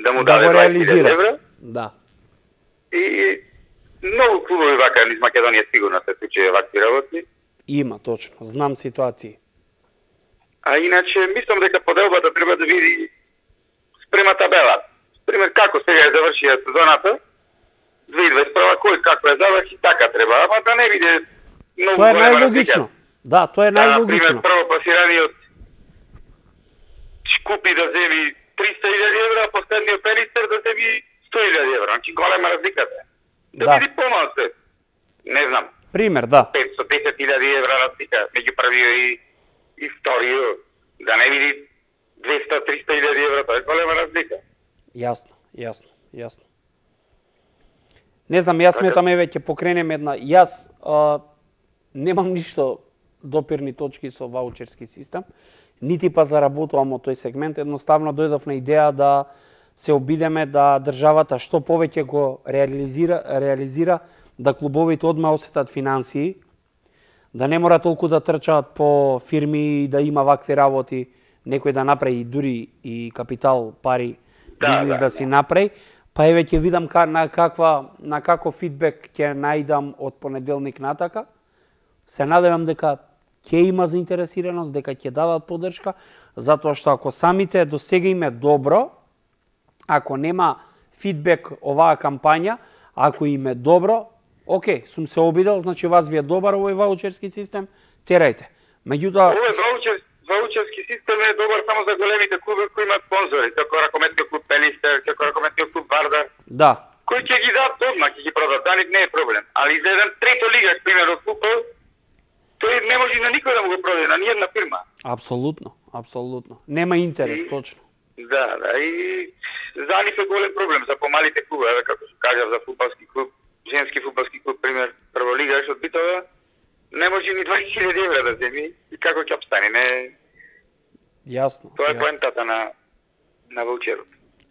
да му да даде дваесет илјади евра. Да. И многу клубови вака низ Македонија сигурно се случи вакви работи. Има, точно. Знам ситуации. А иначе, мислам дека поделбата треба да види спрема табела. Пример, како сега е завршија сезоната, две илјади дваесет и прва, кој како е заврши, така треба. Ама да не биде многу тоа е голема најлогично. разлика. Да, тоа е да, најлогично. Пример, прво пласираниот купи да земи триста илјади евра, а последниот пенистер да земи сто илјади евра. Значи голема разликата. Да, да. биде помалку. Не знам. Пример, да. петстотин десет илјади евра разлика меѓу првиот и, и вториот. Да не види двеста до триста илјади евра, тоа е голема разлика. Јасно, јасно, јасно. Не знам, јас сметам еве ќе покренем една. Јас а, немам ништо допирни точки со ваучерски систем, нити па заработувам од тој сегмент, едноставно дојдов на идеја да се обидеме да државата што повеќе го реализира, реализира да клубовите одма осетат финансии, да не мора толку да трчаат по фирми и да има вакви работи, некој да направи дури и капитал, пари, да, бизнес да, да си направи, па еве ќе видам на каква на каков фидбек ќе најдам од понеделник натака. Се надевам дека ќе има заинтересираност, дека ќе дадат поддршка, затоа што ако самите до сега им е добро, ако нема фидбек оваа кампања, ако им е добро, окей, сум се обидел, значи вас ви е добар овој ваучерски систем, терајте. Меѓутоа, овој ваучер, ваучерски систем е добар само за големите клубови кои имаат спонзори, како ракометниот клуб Пелистер, како ракометниот клуб Вардар. Да. Кои ќе ги дадат одма, ќе ги продадат, да не е проблем. Али за еден трето лига, пример од фудбал, тој не може на никој да му го продаде, на ниједна фирма. Апсолутно, апсолутно. Нема интерес, и, точно. Да, да, и за нив е голем проблем, за помалите клубови, како се кажав за фудбалски клуб, женски фудбалски клуб, пример, прва лига од Битола, не може ни дваесет илјади евра да земи и како ќе обстане. страни, не. Јасно. Тоа е јасно. поентата на на ваучерот.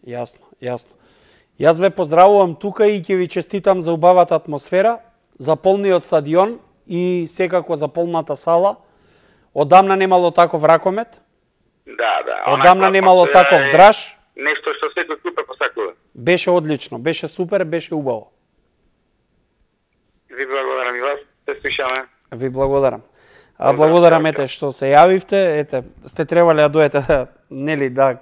Јасно, јасно. Јас ве поздравувам тука и ќе ви честитам за убавата атмосфера, за полниот стадион и секако за полната сала. Одамна немало таков ракомет. Да, да. Одамна Онаква немало атмосфера таков е драж. Нешто што секој клуб посакува. Беше одлично, беше супер, беше убаво. Ви благодарам и вас, се слушаме. Ви благодарам. А благодарам ете што се јавивте, ете сте требале да дојдете нели да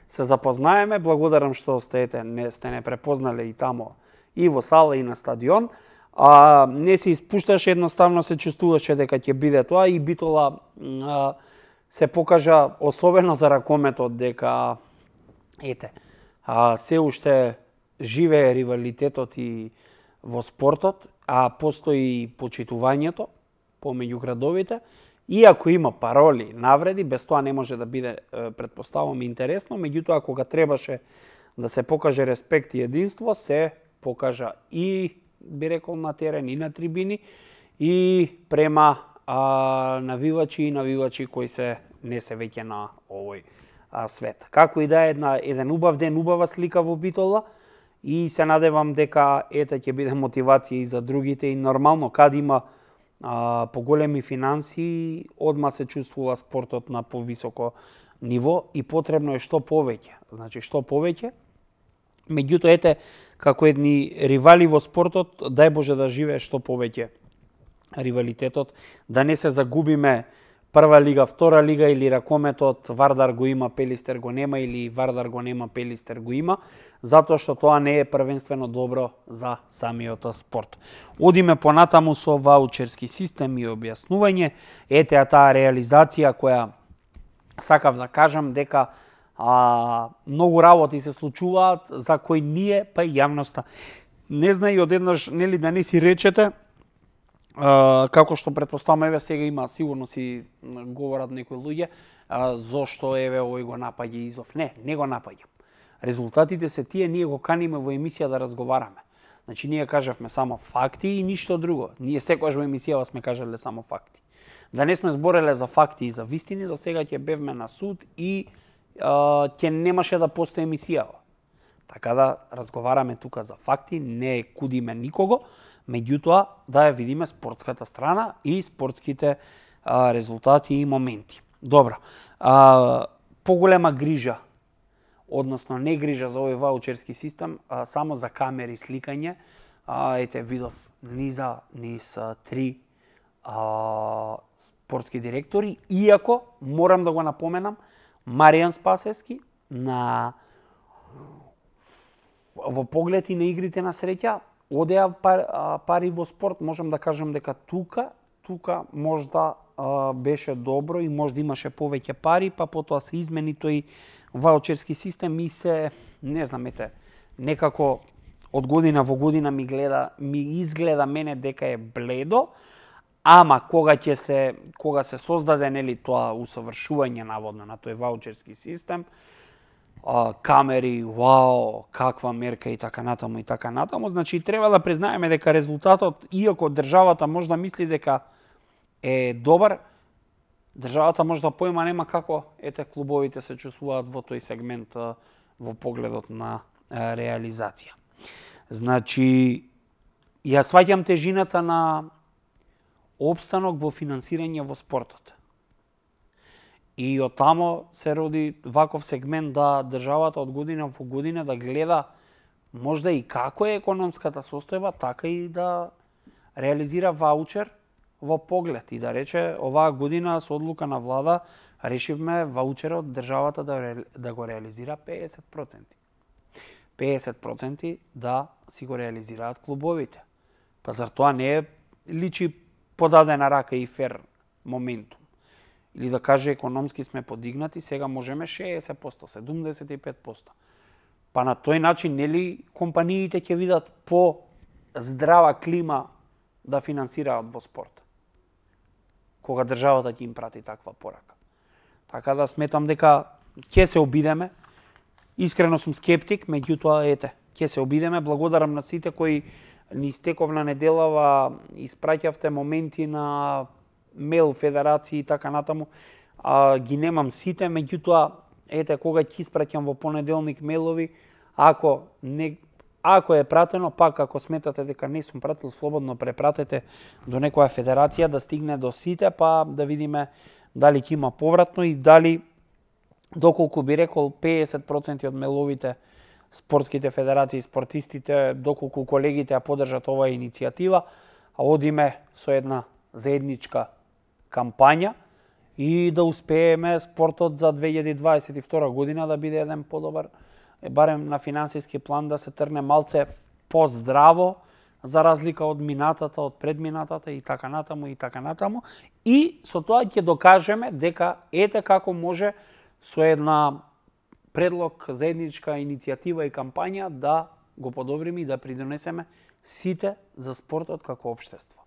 се запознаеме. Благодарам што сте ете не сте не препознале и тамо и во сала и на стадион. А не се испушташе, едноставно се чувствуваше дека ќе биде тоа и Битола а, се покажа особено за ракометот дека ете а, се уште живее ривалитетот и во спортот, а постои и почитувањето помеѓу градовите. Иако има пароли, навреди, без тоа не може да биде, претпоставувам, интересно, меѓутоа кога требаше да се покаже респект и единство, се покажа и, би рекол, на терен и на трибини, и према а, навивачи и навивачи кои се не се веќе на овој а, свет. Како и да е една, еден убав ден, убава слика во Битола, и се надевам дека ете ќе биде мотивација и за другите, и нормално кад има а, поголеми финанси, одма се чувствува спортот на повисоко ниво и потребно е што повеќе. Значи што повеќе. Меѓутоа ете како едни ривали во спортот, дај Боже да живее што повеќе ривалитетот, да не се загубиме прва лига, втора лига или ракометот, Вардар го има, Пелистер го нема, или Вардар го нема, Пелистер го има, затоа што тоа не е првенствено добро за самиот спорт. Одиме понатаму со ваучерски систем и објаснување. Ете таа реализација која сакав да кажам дека а, многу работи се случуваат за кои ние, па и јавноста не знае, и одеднаш нели да не си речете, Uh, како што претпоставам, еве сега има, сигурно си говорат некои луѓе, uh, зошто еве овој го напаѓа Изов. Не, не го напаѓам. Резултатите се тие, ние го каниме во емисија да разговараме. Значи ние кажавме само факти и ништо друго. Ние секогаш во емисијава сме кажале само факти. Да не сме збореле за факти и за вистини, до сега ќе бевме на суд и uh, ќе немаше да постои емисијава. Така да разговараме тука за факти, не кудиме никого, меѓутоа да ја видиме спортската страна и спортските а, резултати и моменти. Добро, а, поголема грижа, односно не грижа за овој ваучерски систем, а, само за камери сликање, а, ете видов низа, низ а, три а, спортски директори, иако, морам да го напоменам, Маријан Спасевски на во поглед и на игрите на среќа, одеа пари во спорт, можам да кажам дека тука, тука можда а, беше добро и можда имаше повеќе пари, па потоа се измени тој ваучерски систем и се, не знам, ете, некако од година во година ми гледа, ми изгледа мене дека е бледо, ама кога ќе се кога се создаде нели тоа усовршување наводно на тој ваучерски систем, Uh, камери, вау, каква мерка и така натаму и така натаму. Значи треба да признаеме дека резултатот, иако државата може да мисли дека е добар, државата може да поима нема како ете клубовите се чувствуваат во тој сегмент uh, во погледот на uh, реализација. Значи ја сваќам тежината на опстанок во финансирање во спортот. И од тамо се роди ваков сегмент да државата од година во година да гледа можда и како е економската состојба, така и да реализира ваучер во поглед и да рече оваа година со одлука на влада решивме ваучерот државата да, да го реализира педесет проценти. педесет проценти да си го реализираат клубовите. Па зар тоа не е личи подадена рака и фер моментум? Или да каже економски сме подигнати, сега можеме шеесет проценти, седумдесет и пет проценти. Па на тој начин, нели, компаниите ќе видат по здрава клима да финансираат во спорт, кога државата ќе им прати таква порака. Така да сметам дека ќе се обидеме. Искрено сум скептик, меѓутоа ете, ќе се обидеме. Благодарам на сите кои ни стековна неделава испраќавте моменти на мейл федерации и така натаму. а, ги немам сите, меѓутоа, ете, кога ќе испраќам во понеделник мейлови, ако не ако е пратено, пак ако сметате дека не сум пратил, слободно препратете до некоја федерација да стигне до сите, па да видиме дали ќе има повратно и дали, доколку би рекол педесет проценти од мейловите спортските федерации, спортистите, доколку колегите ја поддржат оваа иницијатива, а одиме со една заедничка кампања и да успееме спортот за две илјади дваесет и втора година да биде еден подобар, барем на финансиски план да се трне малце поздраво, за разлика од минатата, од предминатата и така натаму и така натаму. И со тоа ќе докажеме дека ете како може со една предлог, заедничка иницијатива и кампања да го подобриме и да придонесеме сите за спортот како општество.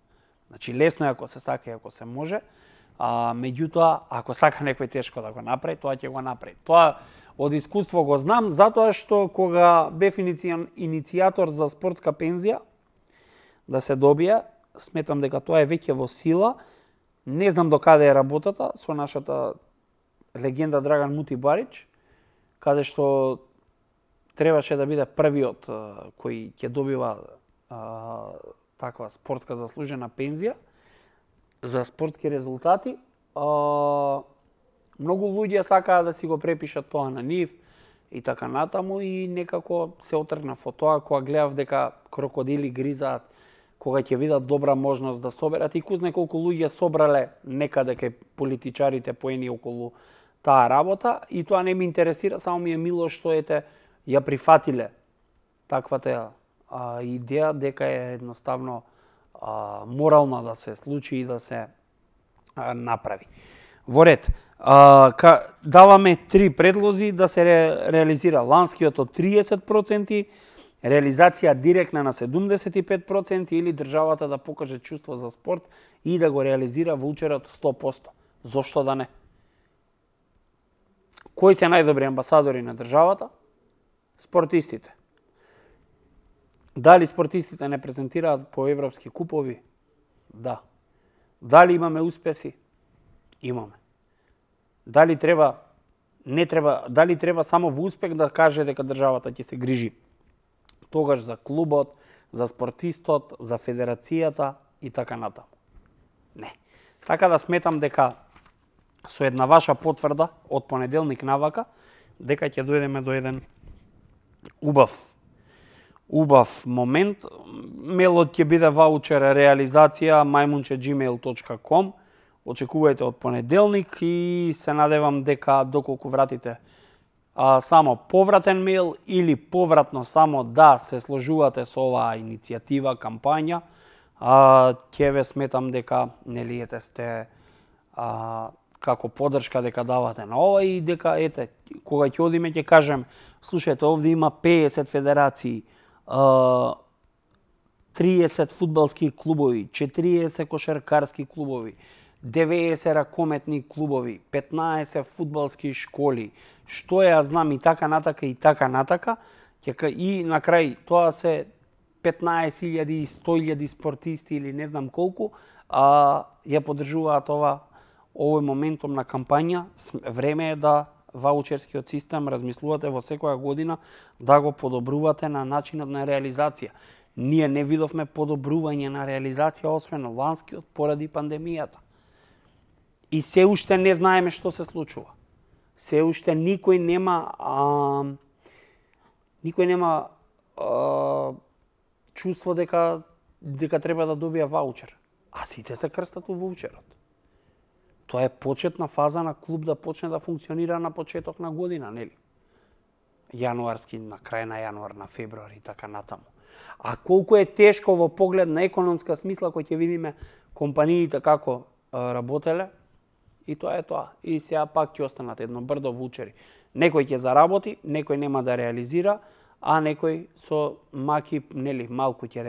Значи лесно е ако се сака и ако се може, а меѓутоа ако сака некој тешко да го направи, тоа ќе го направи. Тоа од искуство го знам, затоа што кога бев иницијатор за спортска пензија да се добија, сметам дека тоа е веќе во сила. Не знам до каде е работата со нашата легенда Драган Мути Барич, каде што требаше да биде првиот кој ќе добива а, таква спортска заслужена пензија за спортски резултати. А, многу луѓе сакаа да си го препишат тоа на нив и така натаму и некако се отргнав од тоа кога гледав дека крокодили гризаат, кога ќе видат добра можност да соберат и кузне колку луѓе собрале некаде кај политичарите поени околу таа работа и тоа не ми интересира, само ми е мило што ете ја прифатиле таквата а, идеја дека е едноставно а, морална да се случи и да се а, направи. Во ред, а, ка, даваме три предлози да се ре, реализира ланскиот од триесет проценти, реализација директна на седумдесет и пет проценти или државата да покаже чувство за спорт и да го реализира ваучерот сто проценти. Зошто да не? Кои се најдобри амбасадори на државата? Спортистите. Дали спортистите не презентираат по европски купови? Да. Дали имаме успеси? Имаме. Дали треба не треба, дали треба само во успех да каже дека државата ќе се грижи тогаш за клубот, за спортистот, за федерацијата и така натаму? Не. Така да сметам дека со една ваша потврда од понеделник навака, дека ќе дојдеме до еден убав убав момент. Мелот ќе биде ваучер реализација мајмунче gmail точка com. Очекувајте од понеделник и се надевам дека доколку вратите а, само повратен мејл или повратно само да се сложувате со оваа иницијатива, кампања, а, ќе ве сметам дека нели ете сте а, како поддршка дека давате на ова и дека ете кога ќе одиме ќе кажем слушајте овде има педесет федерации, триесет фудбалски клубови, четириесет кошаркарски клубови, деветдесет ракометни клубови, петнаесет фудбалски школи, што ја знам и така натака и така натака, и на крај тоа се петнаесет илјади и сто илјади спортисти или не знам колку, а ја поддржуваат ова овој моментум на кампања. Време е да ваучерскиот систем размислувате во секоја година да го подобрувате на начинот на реализација. Ние не видовме подобрување на реализација освен ланскиот поради пандемијата. И се уште не знаеме што се случува. Се уште никој нема а, никој нема а, чувство дека дека треба да добија ваучер. А сите се крстат у ваучерот. Тоа е почетна фаза на клуб да почне да функционира на почеток на година, нели? Јануарски, на крај на јануар, на февруари и така натаму. А колку е тешко во поглед на економска смисла кој ќе видиме компаниите како работеле, и тоа е тоа. И сега пак ќе останат едно брдо ваучери. Некој ќе заработи, некој нема да реализира, а некој со маки, нели, малку ќе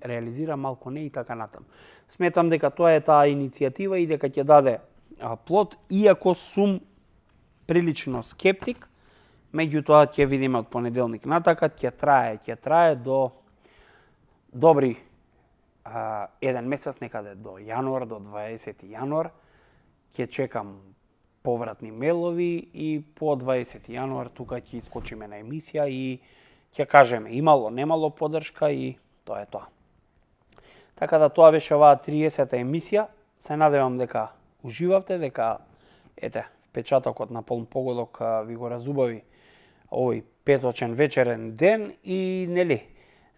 реализира, малку не и така натаму. Сметам дека тоа е таа иницијатива и дека ќе даде плод, иако сум прилично скептик, меѓутоа ќе видиме од понеделник натака, ќе трае, ќе трае до добри а, еден месец, некаде до јануар, до дваесети јануар, ќе чекам повратни мелови и по дваесети јануар тука ќе искочиме на емисија и ќе кажеме имало, немало поддршка и тоа е тоа. Така да тоа беше оваа триесета емисија. Се надевам дека уживавте, дека ете, впечатокот на полн погодок ви го разубави овој петочен вечерен ден и нели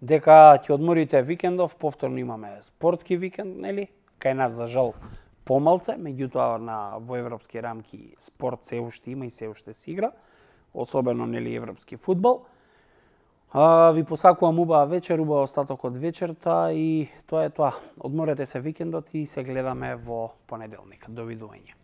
дека ќе одморите викендов, повторно имаме спортски викенд, нели? Кај нас за жал помалце, меѓутоа на во европски рамки спорт се уште има и се уште се игра, особено нели европски фудбал. А, ви посакувам убава вечер, убава остаток од вечерта и тоа е тоа. Одморете се викендот и се гледаме во понеделник. Довидување.